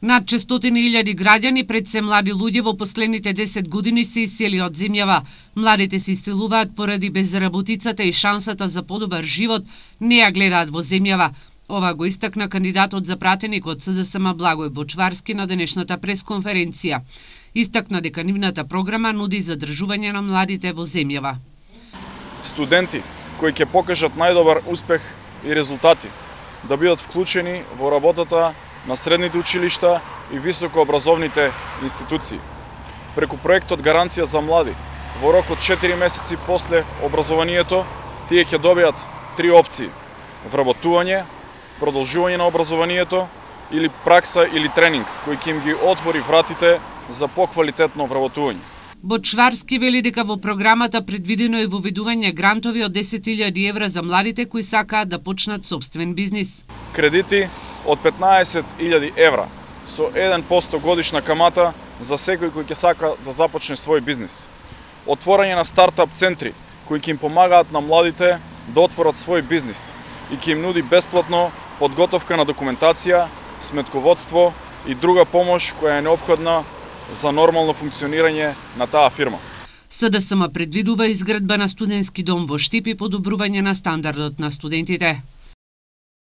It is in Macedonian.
Над 600.000 граѓани, пред се млади луѓе, во последните 10 години се исели од земјава. Младите се иселуваат поради безработицата и шансата за подобар живот не ја гледаат во земјава. Ова го истакна кандидатот за пратеник од СДСМ Благој Бочварски на денешната пресконференција. Истакна дека нивната програма нуди задржување на младите во земјава. Студенти кои ќе покажат најдобар успех и резултати да бидат вклучени во работата на средните училишта и високообразовните институции. Преку проектот Гаранција за млади, во рок од 4 месеци после образованието, тие ќе добијат 3 опции: вработување, продолжување на образованието или пракса или тренинг, кој ќе им ги отвори вратите за поквалитетно вработување. Бочварски вели дека во програмата предвидено е воведување грантови од 10.000 евра за младите кои сакаат да почнат собствен бизнис. Кредити од 15.000 евра со 1% годишна камата за секој кој ќе сака да започне свој бизнис. Отворање на стартап центри кои ќе им помагаат на младите да отворат свој бизнис и ќе им нуди бесплатно подготовка на документација, сметководство и друга помош која е неопходна за нормално функционирање на таа фирма. СДСМ предвидува изградба на студентски дом во Штип и подобрување на стандардот на студентите.